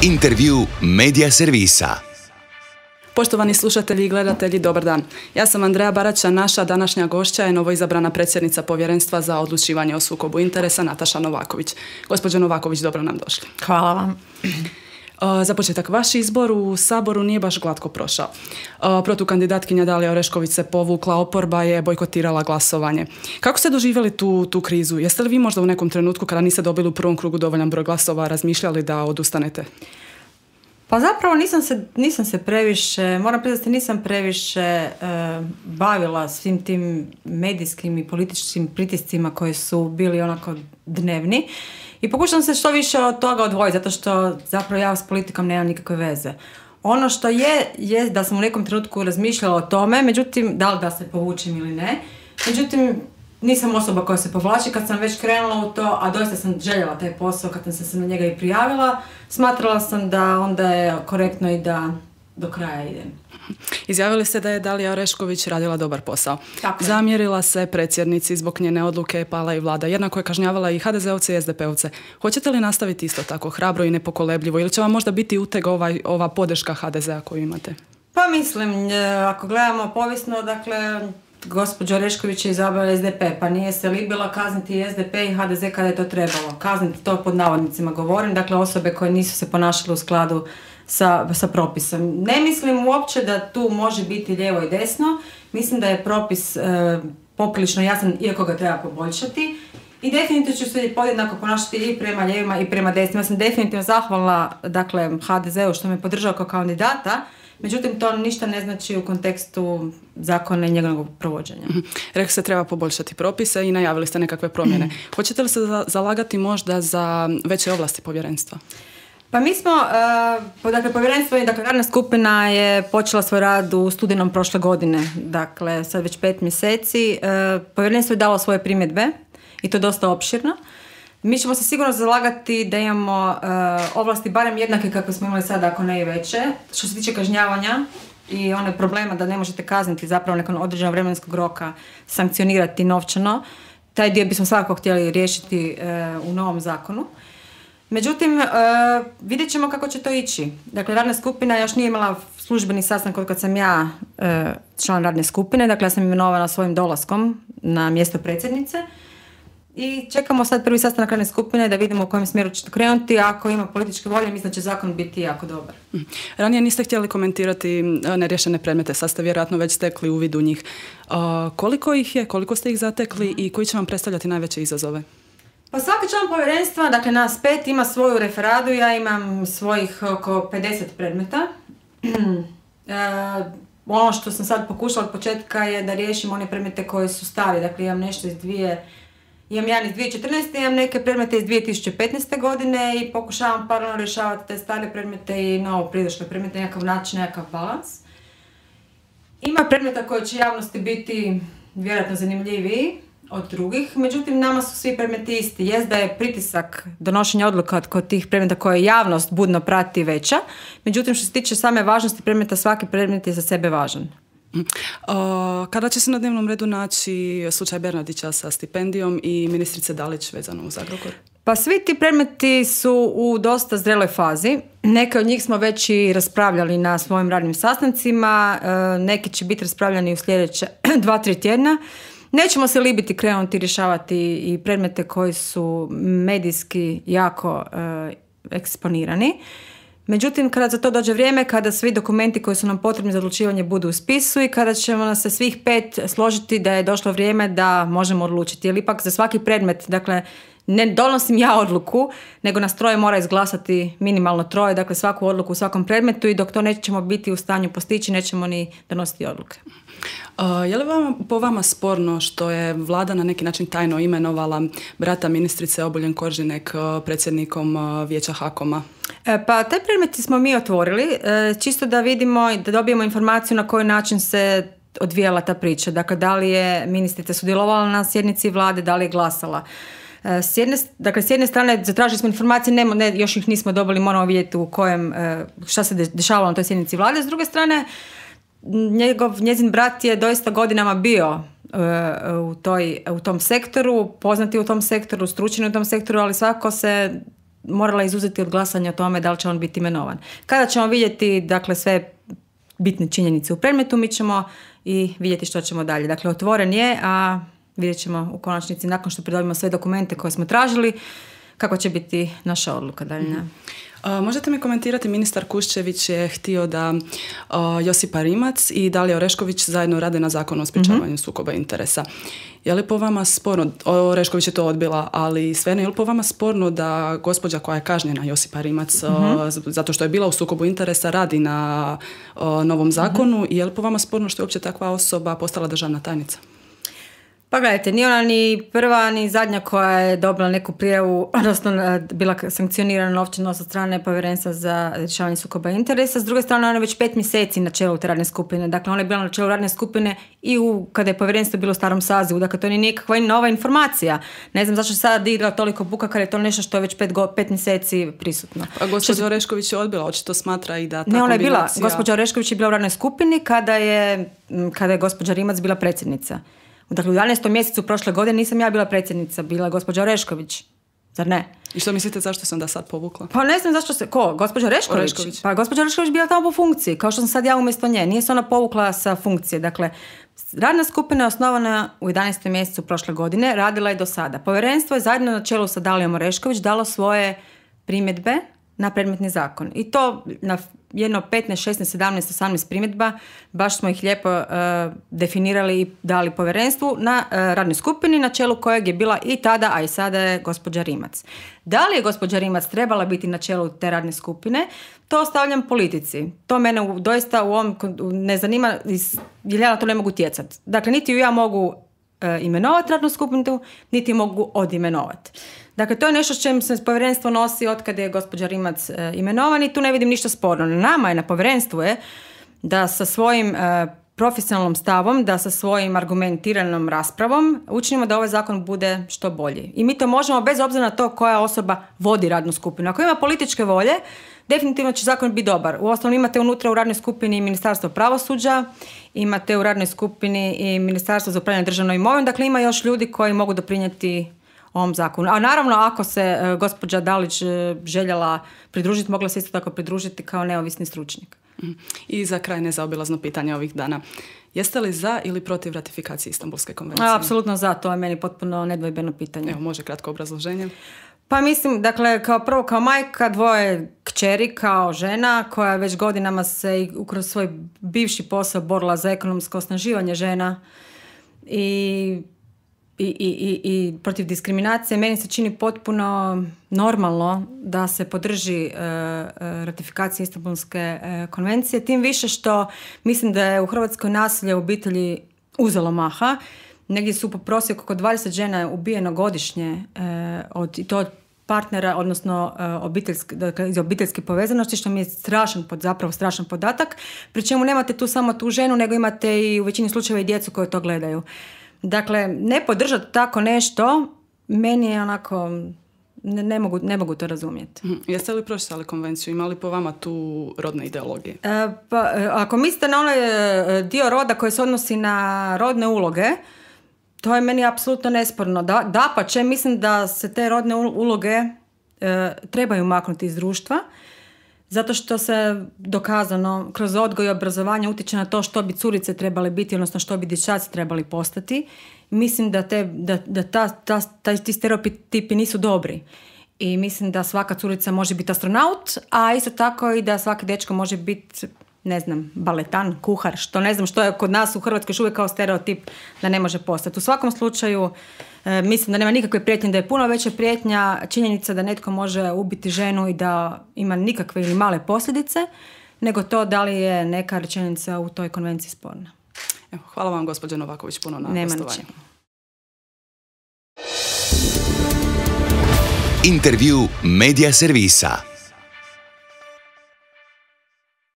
Intervju Medija servisa. Poštovani slušatelji i gledatelji, dobar dan. Ja sam Andreja Baraća, naša današnja gošća je novoizabrana predsjednica Povjerenstva za odlučivanje o sukobu interesa Nataša Novaković. Gospođo Novaković, dobro nam došli. Hvala vam. Za početak, vaš izbor u Saboru nije baš glatko prošao. Protukandidatkinja Dalija Orešković se povukla, oporba je bojkotirala glasovanje. Kako ste doživjeli tu krizu? Jeste li vi možda u nekom trenutku kada niste dobili u prvom krugu dovoljan broj glasova razmišljali da odustanete? Pa zapravo nisam se previše, moram priznati, nisam previše bavila svim tim medijskim i političkim pritiscima koji su bili onako dnevni i pokušam se što više od toga odvojiti, zato što zapravo ja s politikom nemam nikakve veze. Ono što je da sam u nekom trenutku razmišljala o tome, međutim, da li da se povučem ili ne, međutim, nisam osoba koja se povlači. Kad sam već krenula u to, a doista sam željela taj posao, kad sam se na njega i prijavila, smatrala sam da onda je korektno i da do kraja idem. Izjavili ste da je Dalija Orešković radila dobar posao. Tako je. Zamjerila se predsjednici zbog njene odluke je pala i vlada. Jednako je kažnjavala i HDZ-ovce i SDP-ovce. Hoćete li nastaviti isto tako hrabro i nepokolebljivo ili će vam možda biti uteg ova podrška HDZ-a koju imate? Pa mislim, ako gledamo povijesno, dakle, gospođa Orešković je izabrala SDP, pa nije se libila kazniti i SDP i HDZ kada je to trebalo. Kazniti, to pod navodnicima govorim, dakle osobe koje nisu se ponašale u skladu sa propisom. Ne mislim uopće da tu može biti lijevo i desno, mislim da je propis poprilično jasan, iako ga treba poboljšati. I definitivno ću se podjednako ponašati i prema lijevima i prema desnima. Ja sam definitivno zahvalna, dakle, HDZ-u što me podržao kao kandidata, međutim, to ništa ne znači u kontekstu zakona i njegovog provođenja. Rekli ste treba poboljšati propise i najavili ste nekakve promjene. Hoćete li se zalagati možda za veće ovlasti povjerenstva? Pa mi smo, dakle, povjerenstvo i radna skupina je počela svoj rad u studenom prošle godine, dakle, sad već 5 mjeseci. Povjerenstvo je dalo svoje primjedbe i to dosta opširno. Mi ćemo se sigurno zalagati da imamo ovlasti barem jednake kakve smo imali sada, ako ne i veće. Što se tiče kažnjavanja i one problema da ne možete kazniti zapravo nakon određenog vremenskog roka, sankcionirati novčano, taj dio bismo svakako htjeli riješiti u novom zakonu. Međutim, vidjet ćemo kako će to ići. Dakle, radna skupina još nije imala službeni sastanak od kad sam ja član radne skupine, dakle ja sam imenovana svojim dolaskom na mjesto predsjednice. I čekamo sad prvi sastanak radne skupine da vidimo u kojem smjeru će to krenuti. Ako ima političke volje, mislim da će zakon biti jako dobar. Ranije niste htjeli komentirati neriješene predmete, sad ste vjerojatno već stekli uvid u njih. Koliko ih je, koliko ste ih zatekli i koji će vam predstavljati najveće izazove? Pa svaki član povjerenstva, dakle nas 5, ima svoju referadu, ja imam svojih oko 50 predmeta. Ono što sam sad pokušala od početka je da riješim one predmete koji su stari, dakle imam nešto imam jedan iz 2014. Imam neke predmete iz 2015. godine i pokušavam paralelno rješavati te stare predmete i novo pridošle predmete, nekakav način, nekakav balans. Ima predmeta koji će javnosti biti vjerojatno zanimljiviji od drugih, međutim nama su svi predmeti isti. Jest da je pritisak donošenja odluka kod tih predmeta koje javnost budno prati veća, međutim što se tiče same važnosti predmeta, svaki predmet je za sebe važan. Kada će se na dnevnom redu naći slučaj Bernardića sa stipendijom i ministrice Dalić vezano uz Agrokor? Pa svi ti predmeti su u dosta zreloj fazi. Neke od njih smo već i raspravljali na svojim radnim sastancima, neki će biti raspravljani u sljedeće 2-3 tjedna. Nećemo se libiti krenuti rješavati i predmete koji su medijski jako eksponirani. Međutim, kada za to dođe vrijeme, kada svi dokumenti koji su nam potrebni za odlučivanje budu u spisu i kada ćemo nas se svih 5 složiti da je došlo vrijeme da možemo odlučiti. Jer ipak za svaki predmet, dakle, ne donosim ja odluku, nego nas 3 mora izglasati minimalno 3, dakle svaku odluku u svakom predmetu i dok to nećemo biti u stanju postići, nećemo ni donositi odluke. Je li po vama sporno što je vlada na neki način tajno imenovala brata ministrice Obuljen Koržinek predsjednikom vijeća HAKOM-a? Pa taj predmet smo mi otvorili, čisto da vidimo i da dobijemo informaciju na koji način se odvijala ta priča. Dakle, da li je ministrica sudjelovala na sjednici vlade, da li je glasala. S jedne strane zatražili smo informacije, još ih nismo dobili, moramo vidjeti šta se dešavalo na toj sjednici vlade. S druge strane, njezin brat je doista godinama bio u tom sektoru, poznati u tom sektoru, stručni u tom sektoru, ali svako se morala izuzeti od glasanja o tome da li će on biti imenovan. Kada ćemo vidjeti, dakle, sve bitne činjenice u predmetu, mi ćemo i vidjeti što ćemo dalje. Dakle, otvoren je, a vidjet ćemo u konačnici, nakon što pridobimo sve dokumente koje smo tražili, kako će biti naša odluka daljnja. Možete mi komentirati, ministar Kuščević je htio da Josipa Rimac i Dalija Orešković zajedno rade na zakonu o sprječavanju sukoba interesa. Je li po vama sporno, Orešković je to odbila, ali svejedno, je li po vama sporno da gospođa koja je kažnjena, Josipa Rimac, zato što je bila u sukobu interesa, radi na novom zakonu, i je li po vama sporno što je uopće takva osoba postala državna tajnica? Pa gledajte, nije ona ni prva ni zadnja koja je dobila neku prijavu, odnosno bila sankcionirana novčano od strane Povjerenstva za rješavanje sukoba interesa. S druge strane, ona je već 5 mjeseci na čelu te radne skupine. Dakle, ona je bila na čelu radne skupine i kada je povjerenstvo bilo u starom sazivu. Dakle, to nije nikakva nova informacija. Ne znam zašto se sada digla toliko buka kada je to nešto što je već 5 mjeseci prisutno. A gospođa Orešković je odbila, očito smatra i da ta ne, ona je kombinacija... bila, gospođa Orešković je bila u radnoj skupini kada je gospođa Rimac bila predsjednica. Dakle, u 11. mjesecu prošle godine nisam ja bila predsjednica, bila gospođa Orešković. Zar ne? I što mislite, zašto sam da sad povukla? Pa ne znam zašto se... Ko? Gospođa Orešković? Pa gospođa Orešković bila tamo po funkciji, kao što sam sad ja umjesto nje. Nije se ona povukla sa funkcije. Dakle, radna skupina je osnovana u 11. mjesecu prošle godine, radila je do sada. Povjerenstvo je zajedno na čelu sa Dalijom Orešković dalo svoje primjedbe na predmetni zakon. I to na jedno 15, 16, 17, 18 primjedba, baš smo ih lijepo definirali i dali povjerenstvu na radnoj skupini, na čelu kojeg je bila i tada, a i sada je gospođa Rimac. Da li je gospođa Rimac trebala biti na čelu te radne skupine, to ostavljam politici. To mene doista u ovom ne zanima, jer ja na to ne mogu utjecati. Dakle, niti ju ja mogu imenovati radnu skupinu, niti mogu odimenovati. Dakle, to je nešto s čim se povjerenstvo nosi od kada je gospođa Rimac imenovan i tu ne vidim ništa sporno. Na nama je, na povjerenstvu je da sa svojim profesionalnom stavom, da sa svojim argumentiranom raspravom učinimo da ovaj zakon bude što bolji. I mi to možemo bez obzira na to koja osoba vodi radnu skupinu. Ako ima političke volje, definitivno će zakon biti dobar. Uostalom imate unutra u radnoj skupini Ministarstvo pravosuđa, imate u radnoj skupini i Ministarstvo za upravljanje državnom imovinom, dakle ima još ljudi koji mogu doprinijeti ovom zakonu. A naravno, ako se gospođa Dalić željela pridružiti, mogla se isto tako pridružiti kao neovisni stručnjak. I za kraj nezaobilazno pitanje ovih dana. Jeste li za ili protiv ratifikacije Istanbulske konvencije? Apsolutno za, to je meni potpuno nedvojbeno pitanje. Evo, može kratko obrazloženje? Pa mislim, dakle, kao majka dvoje kćeri, kao žena koja već godinama se kroz svoj bivši posao borila za ekonomsko osnaživanje žena i protiv diskriminacije, meni se čini potpuno normalno da se podrži ratifikacija Istanbulske konvencije, tim više što mislim da je u Hrvatskoj nasilje u obitelji uzelo maha. Negdje su po prosjeku oko 20 žena ubijeno godišnje od partnera, odnosno iz obiteljske povezanosti, što mi je strašan podatak, pri čemu nemate tu samo tu ženu, nego imate i u većini slučajeva i djecu koje to gledaju. Dakle, ne podržati tako nešto, meni je onako, ne mogu to razumjeti. Jeste li pročitali konvenciju? Ima li po vama tu rodne ideologije? Pa, ako mislite na onaj dio roda koji se odnosi na rodne uloge, to je meni apsolutno nesporno. Dapače, mislim da se te rodne uloge trebaju maknuti iz društva, zato što se dokazano kroz odgoj i obrazovanje utječe na to što bi curice trebale biti, odnosno što bi dječaci trebali postati. Mislim da ti stereotipi nisu dobri. I mislim da svaka curica može biti astronaut, a isto tako i da svaki dečko može biti, ne znam, baletan, kuhar, što ne znam što je kod nas u Hrvatskoj još uvijek kao stereotip da ne može postati. U svakom slučaju mislim da nema nikakve prijetnje, da je puno veća prijetnja činjenica da netko može ubiti ženu i da ima nikakve ili male posljedice, nego to da li je neka rečenica u toj konvenciji sporna. Evo, hvala vam, gospođo Novaković, puno na gostovanju. Intervju Media servisa.